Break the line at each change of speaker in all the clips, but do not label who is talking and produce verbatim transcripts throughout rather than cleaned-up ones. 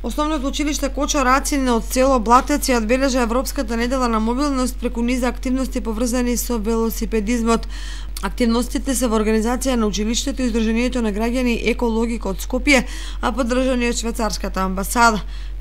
Основното училиште Кочо Рацине од село Блатец ја одбележа Европската недела на мобилност преку низа активности поврзани со велосипедизмот. Активностите се во организација на училиштето и Издруженијето на граѓани Екологика од Скопје, а поддржани од швајцарската амбасада.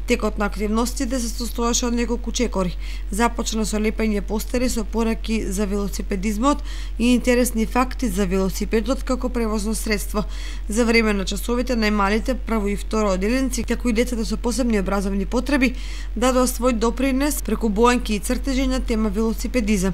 Текот на активностите се состоеше од неколку чекори. Започна со лепење постери со пораки за велосипедизмот и интересни факти за велосипедот како превозно средство. За време на часовите најмалите прво и второ одделенци, како и децата со посебни образовни потреби, дадоа свој допринес преку бојанки и цртежи на тема велосипедизам.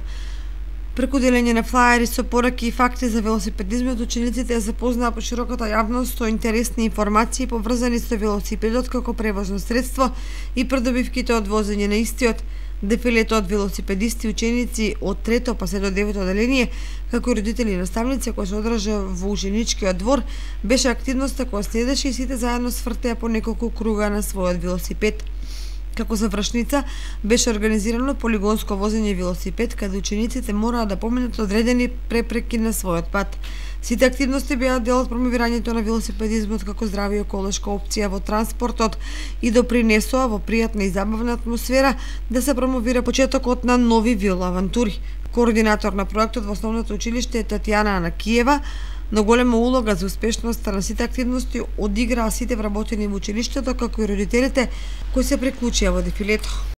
Преку делење на флаери со пораки и факти за велосипедизмот, учениците ја запознаа по широката јавност со интересни информации поврзани со велосипедот како превозно средство и придобивките од возење на истиот. Дефилето од велосипедисти и ученици од трето па се до девето одделение, како и родители и наставници кои се одржа во ученичкиот двор, беше активноста која следеше и сите заедно свртеа по неколку круга на својот велосипед. Како завршница беше организирано полигонско возење велосипед, каде учениците мораа да поминат одредени препреки на својот пат. Сите активности беа дел од промовирањето на велосипедизмот како здрава и еколошка опција во транспортот и допринесоа во пријатна и забавна атмосфера да се промовира почетокот на нови велоавантури. Координатор на проектот во основното училиште е Татјана Анакиева, но голема улога за успешноста на сите активности одиграа сите вработени во училиштето, како и родителите кои се приклучија во дефилето.